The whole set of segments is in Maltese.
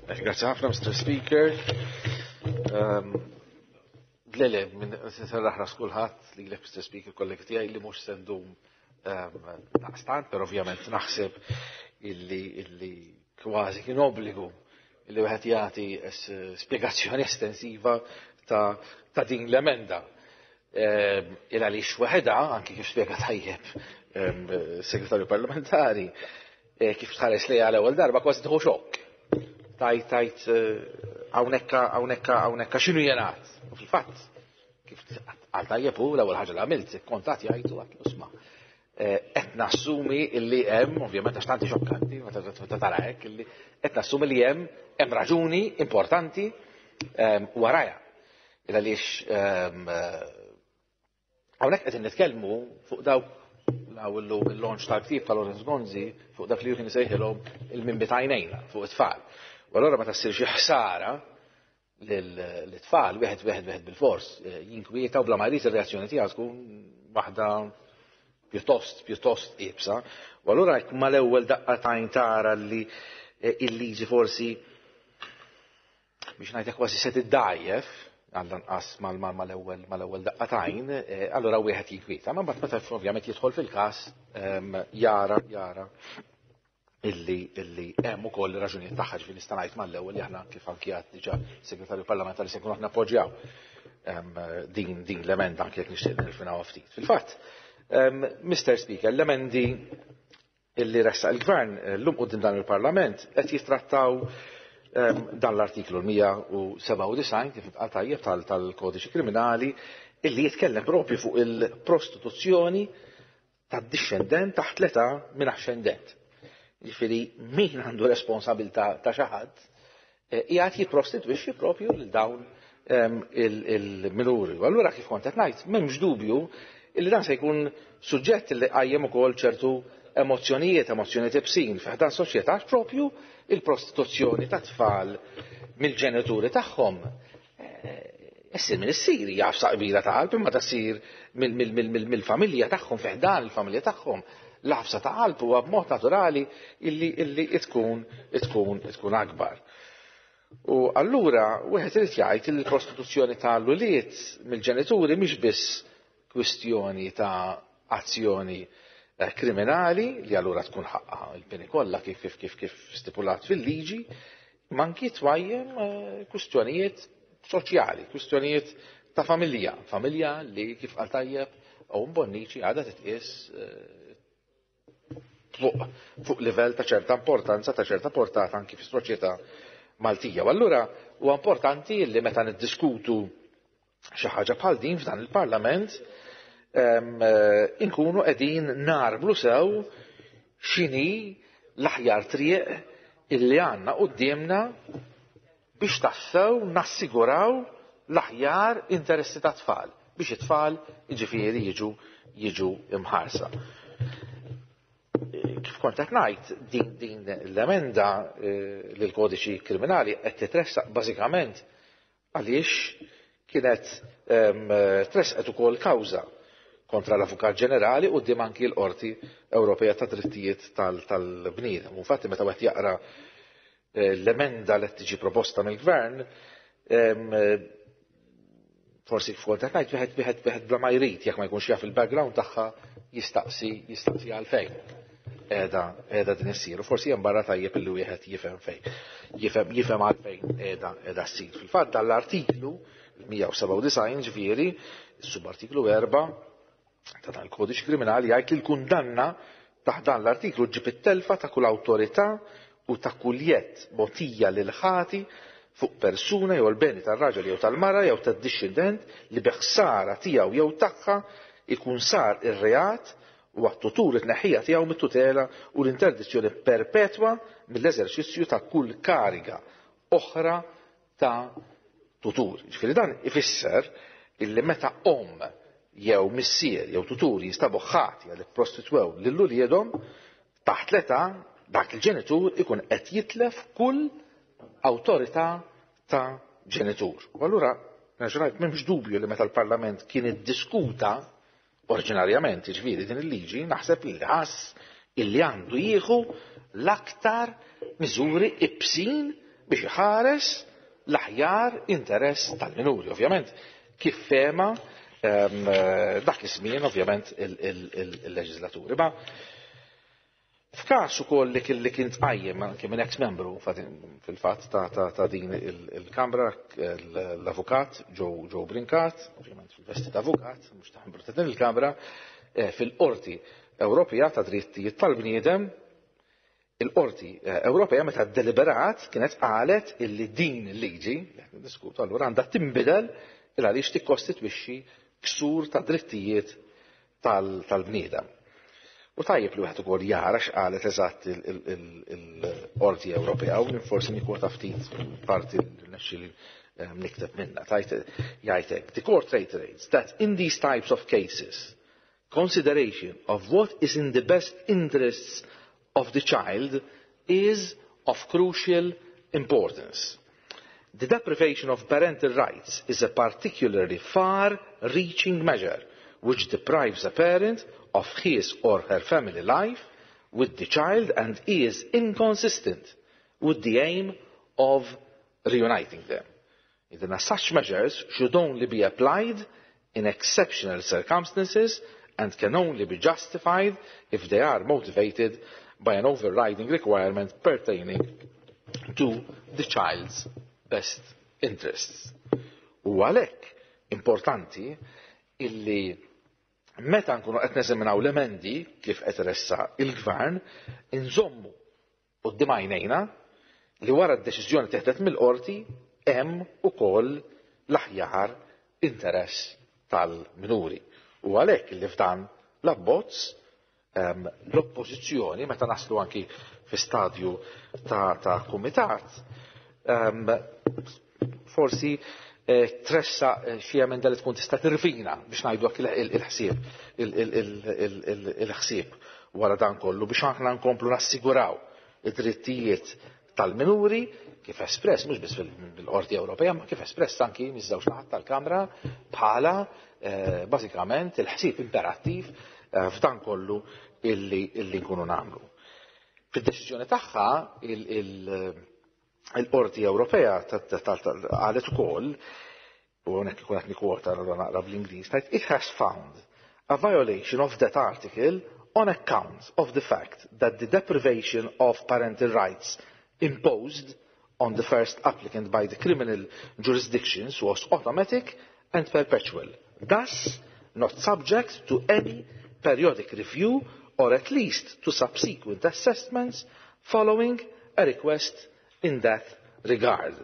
Grazie ħafna, Mr. Speaker. Le, le, minn serraħ ras kulħadd li l Mr. Speaker kollegi tiegħi li mhux se ndum daqstant, però ovvjament naħseb illi illi kważi kien obbligu illi wieħed jagħti spjegazzjoni estensiva ta', ta din l-emenda. Il għaliex waħedha, anki kif spjega tajjeb segretarju parlamentari, kif tħares li għal ewwel darba kważi tieħu xokk. Tajt tajt hawnhekk hawnhekk hawnhekk x'inhu jingħad. U fil-fatt, kif għal tajjeb hu l-ewwel ħaġa li għamilt, kontat jgħidu għat isma' qed nassumi illi hemm, ovvjament għax tanti xokkanti, meta tara hekk, illi qed nassumi li hemm hemm raġuni importanti warajha. Il għaliex hawnhekk qegħdin nitkellmu fuq dawk law illum il-launch tal-ktieb ta' Lawrence Gonzi fuq dak li kien isejħilhom il-mimmi t'għajnejna fuq it-tfal. U allura meta ssir xi ħsara l-tfal, wieħed wieħed wieħed bil-fors, jinkwieta u bla ma jrid ir-reazzjoni tiegħu tkun waħda pjuttost pjuttost iebsa. U allura jekk mal-ewwel daqqa t'għajn tara li il-liġi forsi biex ngħidlek kważi se tiddgħajjef, għall-anqas mal-ewwel mal-ewwel daqqa t'għajn, allura wieħed jinkwieta. Ma mbagħad meta ovvjament jidħol fil-każ jara jara illi illi hemm ukoll raġunijiet tagħha ġifieri nista' ngħid mal-ewwel li aħna kif anki għad diġà segretarju parlamentari se nkunu aħna appoġġjaw din din l-emenda anke jekk nixtieq nirfinaw ftit. Fil-fatt, Mr. Speaker, l-emendi illi ressaq il-Gvern llum quddiem dan il-Parlament qed jittrattaw dan l-artiklu 197 kif intqal tajjeb tal-Kodiċi Kriminali illi jitkellem propju fuq il-prostituzzjoni tad-dixxendent taħt l-età minn axxendent. Jiġifieri min għandu responsabilità ta' xi ħadd qiegħed jipprostitwixxi propju lil dawn il-minuri. U allura kif kont qed ngħid, m'hemmx dubju illi dan se jkun suġġett li qajjem ukoll ċertu emozzjonijiet, emozzjonijiet ibsin fi ħdan soċjetà propju il-prostituzzjoni ta' tfal mill-ġenituri tagħhom. Issir minn issir, hija għafsa kbira ta' qalb, imma ta' ssir mill-familja tagħhom, fi ħdan il-familja tagħhom. L-għafsa ta' qalb huwa b'mod naturali illi illi tkun tkun tkun akbar. U allura wieħed irid jgħid li l-prostituzzjoni tal-ulied mill-ġenituri mhix biss kwistjoni ta' azzjoni kriminali li allura tkun ħaqqa il-pieni kollha kif kif kif kif stipulat fil-liġi, ma anki twajjem kwistjonijiet soċjali, kwistjonijiet ta' familja, familja li kif qal tajjeb Owen Bonnici għadha titqies fuq fuq livell ta' ċerta importanza, ta' ċerta portata anki fis-soċjetà Maltija. U allura huwa importanti li meta niddiskutu xi ħaġa bħal din f'dan il-Parlament inkunu qegħdin narblu sew x'inhi l-aħjar triq illi għandna quddiemna biex tassew nassiguraw l-aħjar interessi ta' tfal, biex it-tfal jiġifieri jiġu jiġu imħarsa. Kif kont qed ngħid, din din l-emenda lill kodiċi kriminali qed titressaq bażikament għaliex kienet tresqet ukoll kawża kontra l-Avukat Ġenerali quddiem anki l-Qorti Ewropea ta' Drittijiet tal-Bniedem. Infatti meta wieħed jaqra l-emenda li qed tiġi proposta mill-Gvern, forsi kif kont qed ngħid wieħed wieħed wieħed bla ma jrid jekk ma jkunx jaf il-background tagħha jistaqsi jistaqsi għalfejn qiegħda qiegħda din issir. U forsi hemm barra tajjeb illi wieħed jifhem fejn jifhem jifhem għalfejn qiegħda qiegħda ssir. Fil-fatt dan l-artiklu 197 ġifieri, subartiklu 4 ta' dan il-kodiċi kriminali jgħid li l-kundanna taħt dan l-artiklu ġib it-telfa ta' kull awtorità u ta' kull jedd mogħtija lil ħati fuq persuna jew l-beni tar-raġel jew tal-mara jew tad-dixxendent li bi ħsara tiegħu jew tagħha ikun sar ir-reat u għat-tutur it-tneħħija tiegħu mit-tutela u l-interdizzjoni perpetwa mill-eżerċizzju ta' kull kariga oħra ta' tutur. Ġifieri dan ifisser illi meta omm jew missier jew tutur jinstabu ħatja li prostitwew lil uliedhom taħt l-età dak il-ġenitur ikun qed jitlef kull awtorità ta' ġenitur. U allura nerġa' ngħid m'hemmx dubju li meta l-Parlament kien iddiskuta oriġinarjament jiġifieri din il-liġi naħseb li ħass illi għandu jieħu l-aktar miżuri ibsin Biex iħares l-aħjar interess tal-minuri, ovvjament, kif fehma dak iż-żmien ovvjament il-leġislaturi. Ma f'każ ukoll li kien li kien tqajjem anke minn ex-membru fil-fatt ta' din il-Kamra, l-avukat Joe Brincat, ovvjament fil-vesti ta' avukat, mhux ta' membru ta' din il-Kamra, fil-Qorti Ewropea ta' Drittijiet tal-Bniedem, il-Qorti Ewropea meta deliberat kienet qalet illi din il-liġi li qed niddiskutu allura għandha tinbidel il għaliex tikkostitwixxi ksur ta' drittijiet tal-bniedem. U tajjeb li wieħed ukoll jara x'qalet eżatt il-Qorti Ewropea u forsi nikkwota ftit parti li nexxieli nikteb minna. Tajt jgħidlek, "The court reiterates that in these types of cases, consideration of what is in the best interests of the child is of crucial importance. The deprivation of parental rights is a particularly far-reaching measure which deprives a parent of his or her family life with the child and is inconsistent with the aim of reuniting them. Then such measures should only be applied in exceptional circumstances and can only be justified if they are motivated by an overriding requirement pertaining to the child's best interests." U għalhekk importanti illi meta nkunu qed neżaminaw l-emendi kif qed iressaq il-gvern, inżommu quddiem għajnejna li wara d-deċiżjoni teħdet mill-qorti hemm ukoll l-aħjar interess tal-minuri. U għalhekk li f'dan l-abbozz l-oppożizzjoni, meta naslu anki fi stadju ta' kumitat, forsi tressaq xi emenda li tkun tista' tirfina, biex ngħidu, il-ħsieb wara dan kollu biex aħna nkomplu nassiguraw id-drittijiet tal-minuri kif espress mhux biss fil-Qorti Ewropea, ma kif espress anki miż-żewġ naħat tal-Kamra bħala bażikament il-ħsieb imperattiv f'dan kollu illi nkunu nagħmlu. Fid-deċiżjoni tagħha il-Qorti Ewropea qalet ukoll, u hawnhekk ikun qed nikkwota naqra bl-Ingliż, tgħid, "It has found a violation of that article on account of the fact that the deprivation of parental rights imposed on the first applicant by the criminal jurisdictions was automatic and perpetual, thus not subject to any periodic review or at least to subsequent assessments following a request in that regard.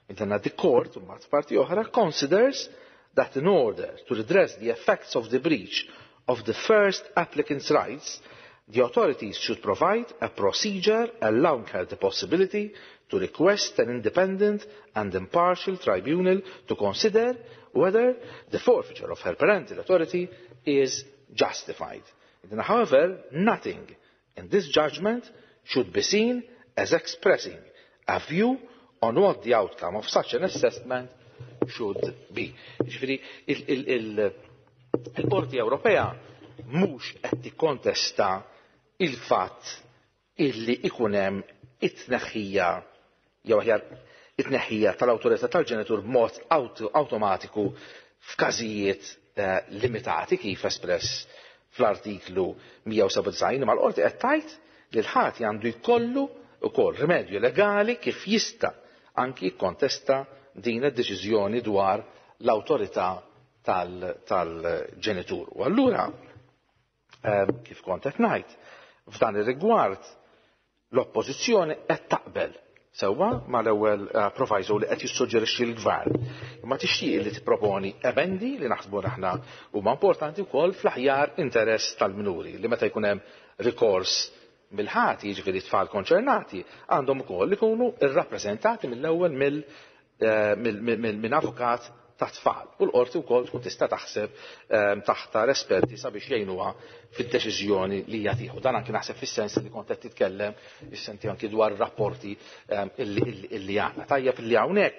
Intenna, the court, mbagħad parti oħra, considers that in order to redress the effects of the breach of the first applicant's rights, the authorities should provide a procedure allowing her the possibility to request an independent and impartial tribunal to consider whether the forfeiture of her parental authority is justified. However, nothing in this judgment should be seen as expressing a view on what the outcome of such an assessment should be." Ġifieri, il-Qorti Ewropea mhux qed tikkontesta il-fatt illi ikun hemm it-tneħħija, jew aħjar it-tneħħija tal-awtorità tal-ġenitur b'mod awtomatiku f'każijiet limitati kif espress fl-artiklu 197, ma l-qorti qed tgħid li l-ħati għandu jkollu ukoll rimedju legali kif jista' anki jikkontesta din id-deċiżjoni dwar l-awtorità tal-ġenitur. U allura, kif kont qed ngħid, f'dan ir-rigward l-oppożizzjoni qed taqbel sewwa mal-ewwel proviso li qed jissuġġerixxi l-gvern. Imma tixtieq li tipproponi emendi li naħsbu aħna huma importanti wkoll fl-aħjar interess tal-minuri, li meta jkun hemm rikors mill-ħati, jiġifieri tfal konċernati, għandhom ukoll ikunu irrappreżentati mill-ewwel minn avukat ta' tfal. U l-qorti wkoll tkun tista' taħseb taħtar esperti sabiex jgħinuha fid-deċiżjoni li hija tieħu. Dan anki naħseb fis-sens li kont qed titkellem is-senti anki dwar rapporti illi għandna. Tajjeb li hawnhekk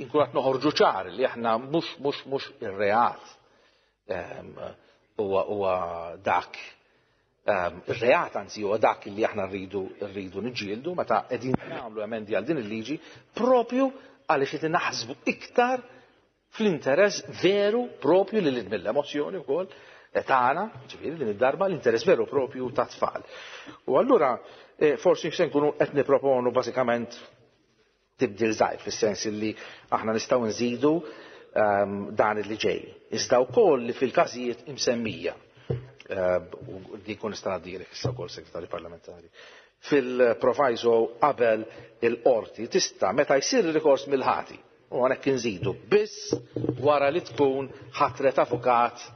inkun qed noħorġu ċar li aħna mhux ir-reat huwa dak. Ir-reat anzi huwa dak li aħna rridu niġġieldu meta qegħdin nagħmlu emendi għal din il-liġi propju għaliex qed naħsbu iktar fl-interess veru propju li mill-emozzjoni wkoll tagħna, ġifieri din id-darba l-interess veru propju ta' tfal. U allura forsi se nkunu qed niproponu bażikament tibdil żgħir fis-sens li aħna nistgħu nżidu dan li ġej. Iżda wkoll li fil-każijiet imsemmija u din kun nista' ngħaddilek issa wkoll, Segretarju Parlamentari, fil-proviso qabel il-qorti tista' meta jsir rikors mill-ħati u hawnhekk inżidu biss wara li tkun ħatret avukat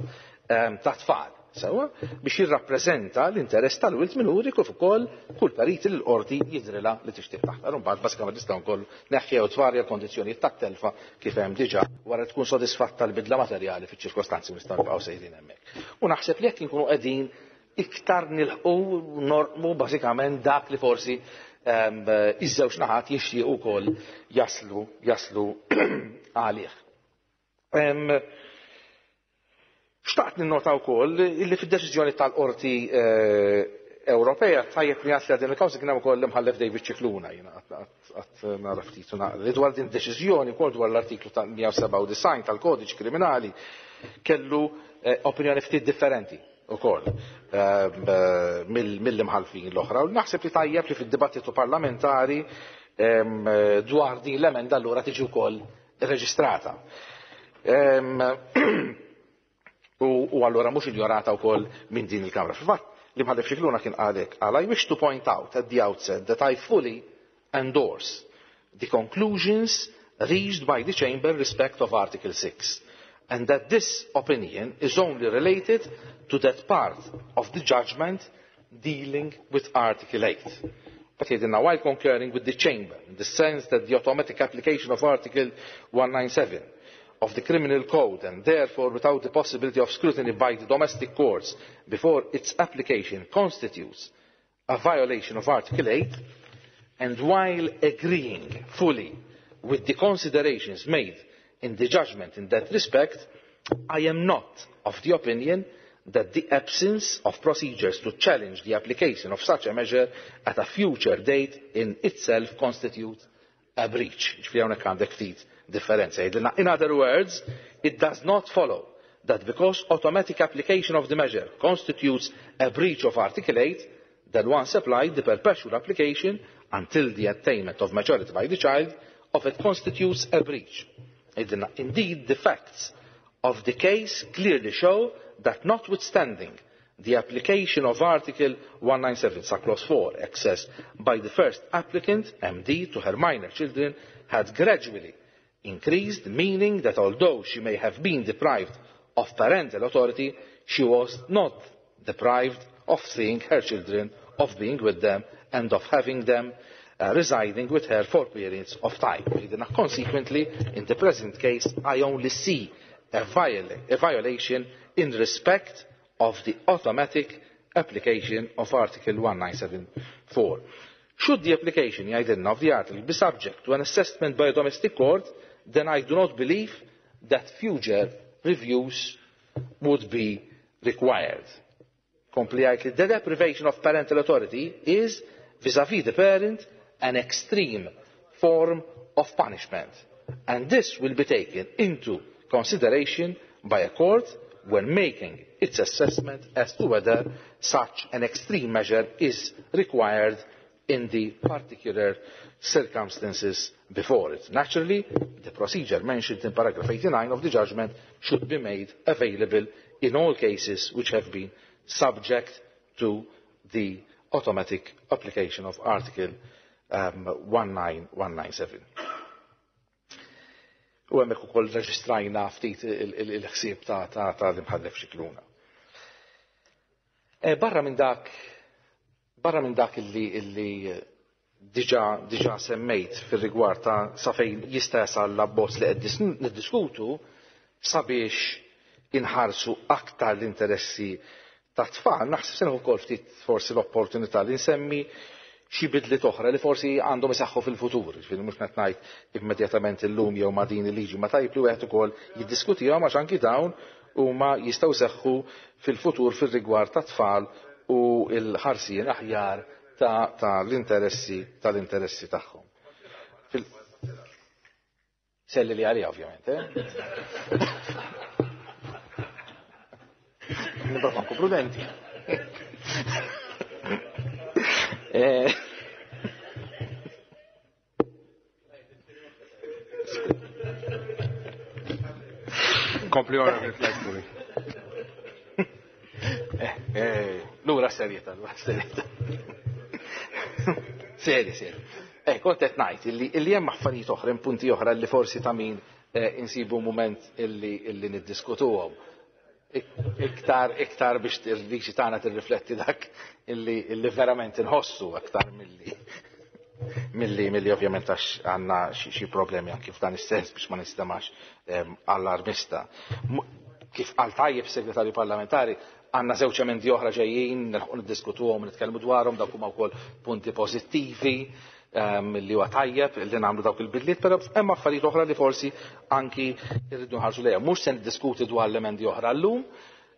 ta' tfal. Sewa, biex jirrappreżenta l-interess tal-wild minuri kif ukoll kull periti li l-qorti jidrilha li tixtieq taħtar. Imbagħad bażikament nistgħu wkoll neħħew tvarja l-kondizzjonijiet tat-telfa kif hemm diġà wara tkun sodisfatta l-bidla materjali fiċ-ċirkostanzi, nistgħu nibqgħu sejrin hemmhekk. U naħseb li jekk inkunu qegħdin iktar nilħqu norqmu bażikament dak li forsi iż-żewġ naħat jixtiequ wkoll jaslu għalih. Xtaqt ninnota wkoll illi fid-deċiżjoni tal-Qorti Ewropea, tajjeb li għatli din il-kawża kien hemm ukoll l-imħallef David Scicluna, jiena qatt nara ftit u naqra. Dwar din deċiżjoni wkoll dwar l-artiklu ta' 197 tal-Kodiċ Kriminali kellu opinjoni ftit differenti ukoll mill-imħalfin l-oħra. U naħseb li tajjeb li fid-dibattitu parlamentari dwar din l-emenda allura tiġi wkoll reġistrata. U allura mhux injorata wkoll minn din il-Kamra. Fil-fatt, l-imħallef Scicluna kien qalek għal: "I wish to point out at the outset that I fully endorse the conclusions reached by the Chamber in respect of Article 6 and that this opinion is only related to that part of the judgment dealing with Article 8. But here now, while concurring with the Chamber in the sense that the automatic application of Article 197 of the Criminal Code and therefore without the possibility of scrutiny by the domestic courts before its application constitutes a violation of Article 8, and while agreeing fully with the considerations made in the judgment in that respect, I am not of the opinion that the absence of procedures to challenge the application of such a measure at a future date in itself constitutes a breach." Ġifieri hawnhekk għandek ftit differenza. In other words, it does not follow that because automatic application of the measure constitutes a breach of Article 8, then once applied, the perpetual application until the attainment of majority by the child of it constitutes a breach. Indeed, the facts of the case clearly show that notwithstanding the application of Article 197, sub-clause 4, access by the first applicant, MD, to her minor children had gradually increased, meaning that although she may have been deprived of parental authority, she was not deprived of seeing her children, of being with them, and of having them residing with her for periods of time. Consequently, in the present case, I only see a violation in respect of the automatic application of Article 1974. Should the application, jgħidilna, of the article be subject to an assessment by a domestic court, then I do not believe that future reviews would be required." Kompli jgħid li the deprivation of parental authority is, vis-à-vis the parent, an extreme form of punishment. And this will be taken into consideration by a court when making its assessment as to whether such an extreme measure is required in the particular circumstances before it. Naturally, the procedure mentioned in paragraph 89 of the judgment should be made available in all cases which have been subject to the automatic application of Article 19197. U hemmhekk ukoll reġistrajna ftit il-ħsieb ta' l-imħallef Scicluna. Barra minn dak illi diġa semmejt fil-rigward ta' sa fejn jista' jasal l-abbozz li qed niddiskutu sabiex inħarsu aktar l-interessi ta' tfal, naħseb se ukoll ftit forsi l-opportunità li nsemmi xi bidliet oħra li forsi għandhom isaħħu fil-futur, ġifieri mhux qed ngħid immedjatament illum jew ma' din il-liġi, ma tajb li wieħed ukoll jiddiskutihom għax anki dawn huma jistgħu seħħu fil-futur fir-rigward ta' tfal. u l-ħarsien aħjar ta' l-interessi tal-interessi tagħhom. Selli li għalija ovvjament, eh? Nibqa' nkun prudenti. Kompli ora fil-flex. Lura serjeta, lura serjeta. Seri, seri. Kont qed ngħid illi hemm affarijiet oħra, hemm punti oħra li forsi ta' min insibu mument illi niddiskutuhom. Iktar biex il-liġi tagħna tirrifletti dak illi verament inħossu aktar milli ovvjament għax għandna xi problemi anki f'dan is-sens biex ma nistemax allarmista. Kif qal tajjeb segretarju parlamentari, għandna żewġ emendi oħra ġejjin, nilħqu niddiskutuhom, nitkellmu dwarhom, dawk huma wkoll punti pożittivi li huwa tajjeb li nagħmlu dawk il-bidliet, però hemm affarijiet oħra li forsi anki rridu nħarsu lejha. Mhux se niddiskuti dwar l-emendi oħra llum,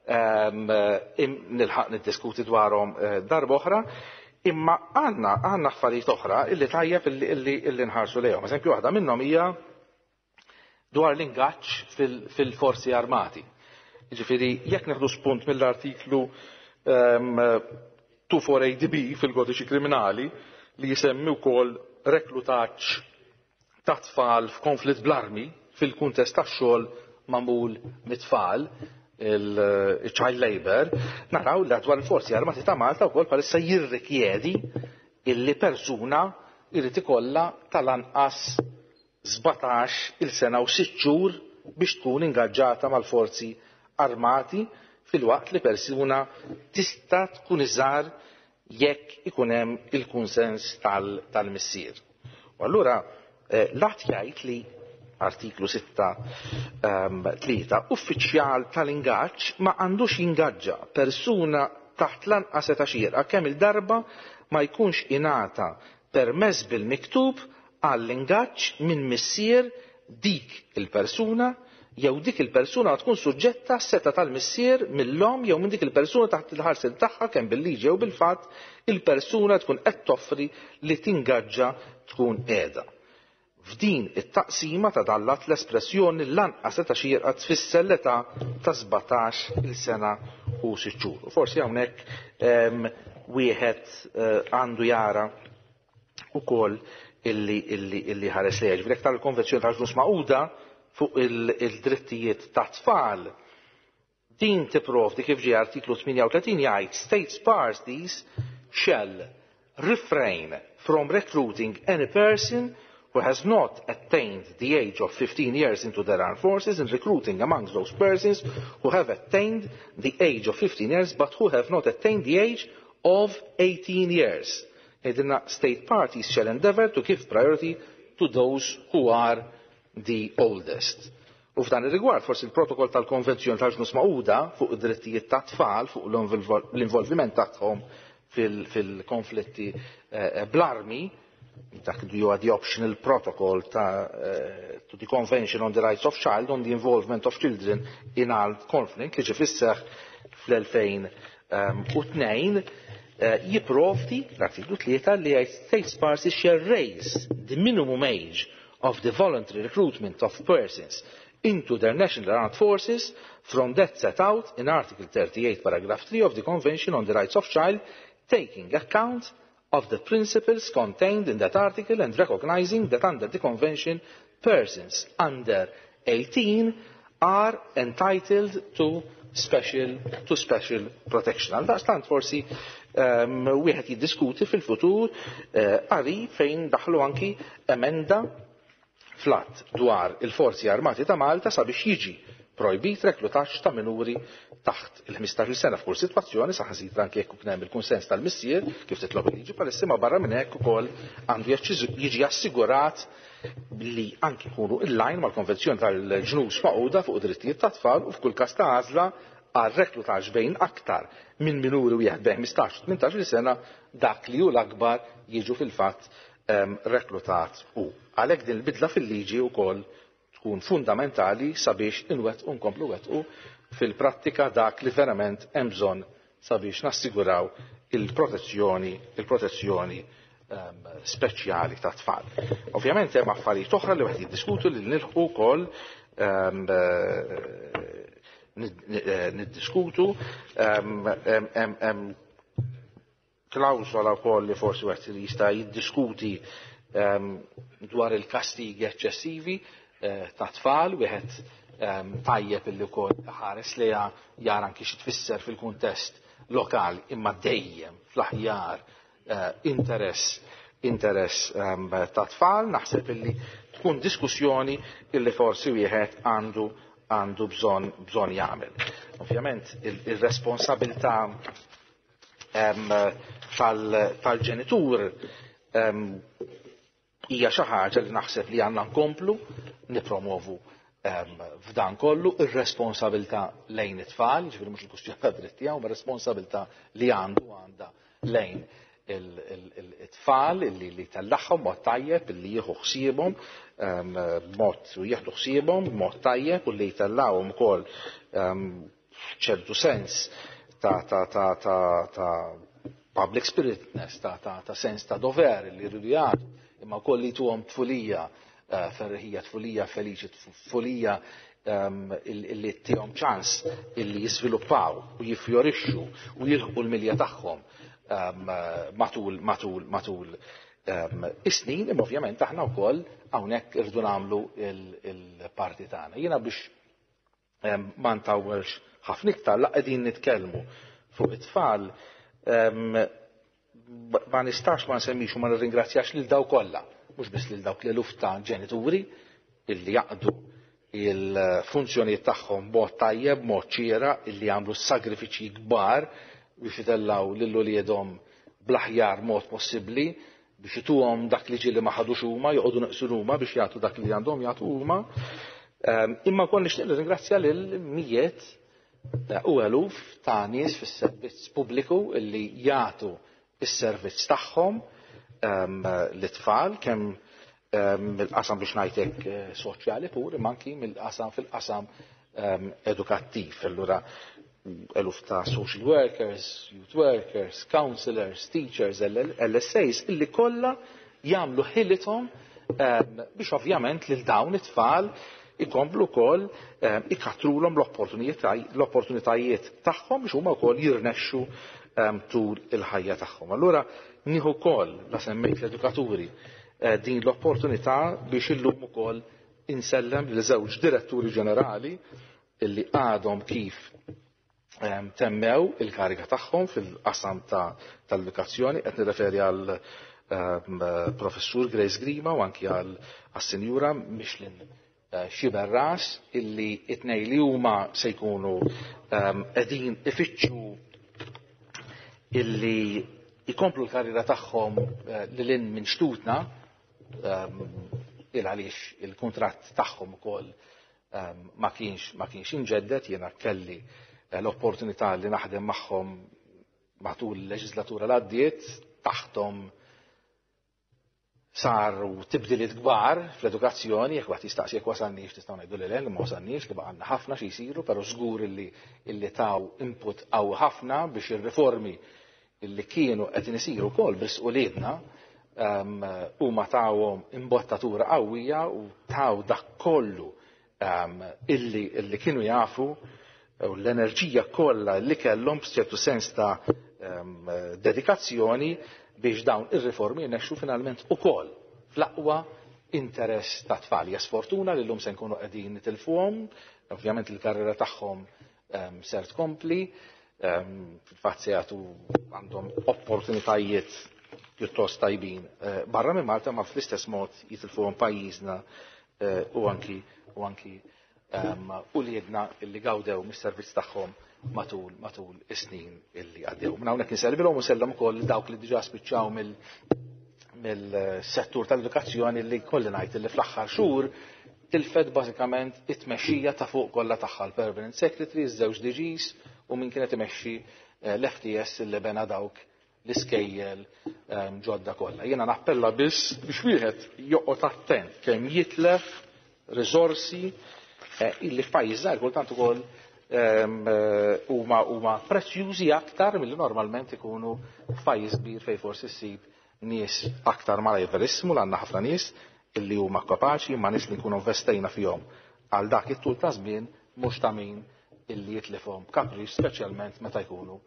nilħaq niddiskuti dwarhom darba oħra, imma għandna affarijiet oħra illi tajjeb illi nħarsu lejhom. Eżempju, waħda minnhom hija dwar l-ingaġġ fil-forzi armati. Jiġifieri, jekk neħdu spunt mill-artiklu 248B fil-Kodiċi Kriminali li jisemmi wkoll reklutaġġ ta' tfal f'konflitt bl-armi fil-kuntest tax-xogħol magħmul mit-tfal, il-child labor, naraw li dwar il-forzi armati ta' Malta wkoll bħalissa jirrikjedi illi persuna jrid ikollha tal-anqas 17 il sena u 6 xhur biex tkun ingaġġata mal-forzi armati, fil-waqt li persuna tista' tkun iżgħar jekk ikun hemm il-kunsens tal-missier. U allura l-att jgħid li artiklu 6 3 uffiċjal tal-ingaġġ ma għandux jingaġġa persuna taħt lanqas età xierqa kemm il-darba ma jkunx ingħata permess bil-miktub għall-ingaġġ minn missier dik il-persuna jew dik il-persuna tkun suġġetta seta tal-missier mill-omm jew minn dik il-persuna taħt il-ħarsien tagħha kemm bil-liġi jew bil-fatt il-persuna tkun qed toffri li tingaġġa tkun qiegħda. F'din it-taqsima ta' dallat l-espressjoni lanqas età xierqa tfisser l-età ta' 17 il-sena u 6 xhur. U forsi hawnhekk wieħed għandu jara ukoll illi ħares lejha. Ġifieri tal-Konvenzjoni tal-Ġnus Magħquda fuq il-drittijiet ta' tfal, din tipprovdi kif ġie artiklu 38 jgħid: "States parties shall refrain from recruiting any person who has not attained the age of 15 years into their armed forces and recruiting amongst those persons who have attained the age of 15 years but who have not attained the age of 18 years. Edina state parties shall endeavor to give priority to those who are the oldest." U f'dan ir-rigward forsi il-protokoll tal-Konvenzjoni tal-Ġnus Magħquda fuq id-drittijiet ta' tfal, fuq l-involviment tagħhom fil-konflitti bl-armi, dak li huwa the optional protocol ta' to the Convention on the Rights of Child on the Involvement of Children in Armed Conflict li ġie fis-seħħ fl-2002, jipprovdi l-artiklu 3 li jgħid: "States parties shall raise the minimum age of the voluntary recruitment of persons into their national armed forces from that set out in Article 38 paragraph 3 of the Convention on the Rights of Child, taking account of the principles contained in that article and recognizing that under the Convention persons under 18 are entitled to special protection." Għaldaqstant forsi wieħed jiddiskuti fil-futur qari fejn daħlu anki emenda fl-att dwar il-Forzi Armati ta' Malta sabiex jiġi projbit reklutaġġ ta' minuri taħt il-15 sena f'kull sitwazzjoni, saħansitra anke jekk ikun hemm il-kunsens tal-missier kif titlob il-liġi palissa, ma barra minn hekk ukoll għandu jiġi assigurat li anki jkunu in-line mal-Konvenzjoni tal-Ġnus Magħquda fuq id-drittijiet tat-tfal u f'kull każ ta' għażla għal reklutaġġ bejn aktar minn minuri wieħed bejn 15 u 18 sena, dak li hu l-akbar jiġu fil-fatt reklutat. U għalhekk din il-bidla fil-liġi wkoll tkun fundamentali sabiex inwettqu, nkomplu nwettqu fil-prattika dak li verament hemm bżonn. sabiex nassiguraw il-protezzjoni il-protezzjoni speċjali ta' tfal. Ovvjament hemm affarijiet oħra li wieħed jiddiskutu li nilħqu wkoll niddiskutu hemm klawsola wkoll li forsi wieħed li jista' jiddiskuti dwar il-kastigi eċċessivi ta' tfal, wieħed tajjeb illi wkoll ħares liha jara anki xi tfisser fil-kuntest lokali imma dejjem fl-aħjar interess interess ta' tfal, naħseb illi tkun diskussjoni illi forsi wieħed għandu għandu bżonn bżonn jagħmel. Ovvjament il-responsabilità tal-ġenitur hija xi ħaġa li naħseb li għandna nkomplu nipromovu f'dan kollu ir-responsabilità lejn it-tfal, ġifieri mhux il-kwistjoni ta' dritt tiegħu, ma responsabilità li għandu għandha lejn it-tfal li li tellagħhom mod tajjeb, li jieħu ħsiebhom mod u jieħdu ħsiebhom mod tajjeb u li jtellgħuhom ukoll ċertu sens ta' ta' ta' ta' ta' public spiritness, ta' ta' ta' sens ta' dover li jridu jagħtu, imma wkoll li tuhom tfulija ferriħija, tfulija feliċi, tfulija illi tihom ċans illi jiżviluppaw u jiffjorixxu u jilħqu l-milja tagħhom matul matul matul is-snin, imma ovvjament aħna wkoll hawnhekk irridu nagħmlu il-parti tagħna. Jiena biex ma ntawwelx ħafna iktar la qegħdin nitkellmu fuq it-tfal ma nistax ma nsemmix u ma nirringrazzjax lil daw kollha, mhux biss lil dawk l-eluf ta' ġenituri illi jaqdu il-funzjonijiet tagħhom b'mod tajjeb, b'mod xieraq, illi jagħmlu sagrifiċji kbar biex itellaw lil uliedhom bl-aħjar mod possibbli biex ituhom dak li ġieli ma ħadux huma, joqogħdu neqsin huma biex jagħtu dak li għandhom jagħtu huma. Imma wkoll nixtieq nirringrazzja lil mijiet u eluf ta' nies fis-servizz pubbliku illi jagħtu is-servizz tagħhom l-itfal kemm mill-qasam biex ngħidlek soċjali pur imma anki mill-qasam fil-qasam edukattiv. Allura eluf ta' social workers, youth workers, counselors, teachers, LSAs, illi kollha jagħmlu ħilithom biex ovvjament lil dawn it-tfal ikomplu wkoll ikatrulhom l-opportunitajiet tagħhom biex huma wkoll jirnexxu tul il-ħajja tagħhom. Allura nieħu wkoll la semmejt l-edukaturi din l-opportunità biex illum ukoll insellem li żewġ diretturi ġenerali illi għadhom kif temmew il-kariga tagħhom fil-qasam tal-edukazzjoni, qed nirreferi għal professur Grace Grima u anki għal sinjura Michelin Xiberras illi it-tnej li huma se jkunu qegħdin ifittxu illi ikomplu l-karriera tagħhom lil hinn minn xtutna il għaliex il-kuntratt tagħhom ukoll ma kienx inġeddet. Jiena kelli l-opportunità li naħdem magħhom matul il-leġislatura l-għaddiet, taħtom saru tibdiliet kbar fl-edukazzjoni, jekk wieħed jistaqsi jekk wasalniex nistgħu ngħidu li le, ma wasalniex, li baqgħalna ħafna xi jsiru, però żgur illi illi taw input qawwi ħafna biex ir-riformi illi kienu qed isiru wkoll biex uliedna huma tawhom imbottatura qawwija u taw dak kollu illi illi kienu jafu u l-enerġija kollha li kellhom b'ċertu sens ta' dedikazzjoni biex dawn ir-riformi jirnexxu finalment ukoll fl-aqwa interess ta' tfal. Hija sfortuna li llum se nkunu qegħdin nitilfuhom, ovvjament il-karriera tagħhom ser tkompli, fil-fatt se jagħtu għandhom opportunitajiet pjuttost tajbin barra minn Malta ma fl-istess mod jitilfuhom pajjiżna u anki u anki uliedna illi gawdew mis-servizz tagħhom matul matul is-snin illi għaddew. Minn hawnhekk insellmilhom u nsellem ukoll dawk li diġà spiċċaw mill-settur tal-edukazzjoni li kolli ngħid li fl-aħħar xhur tilfet bażikament it-tmexxija ta' fuq kollha tagħha l-Permanent Secretary, iż-żewġ DGs u min kienet imexxi l-FTS li bena dawk l-iskejjel ġodda kollha. Jiena nappella biss biex wieħed joqgħod attent kemm jitlef riżorsi illi f'pajjiż żgħir kultant ukoll Huma huma prezzjużi aktar milli normalment ikunu f'pajjiż kbir fejn forsi ssib nies aktar malajr. Verissimu li għandna ħafna nies illi huma kapaċi, imma nies li nkunu investejna fihom għal dak it-tul ta' żmien mhux ta' min illi jitlifhom kapriċ, speċjalment meta jkunu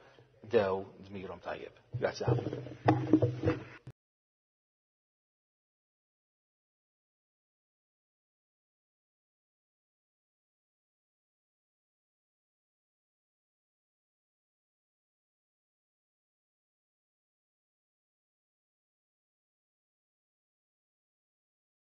qdew dmirhom tajjeb. Grazzi ħafna.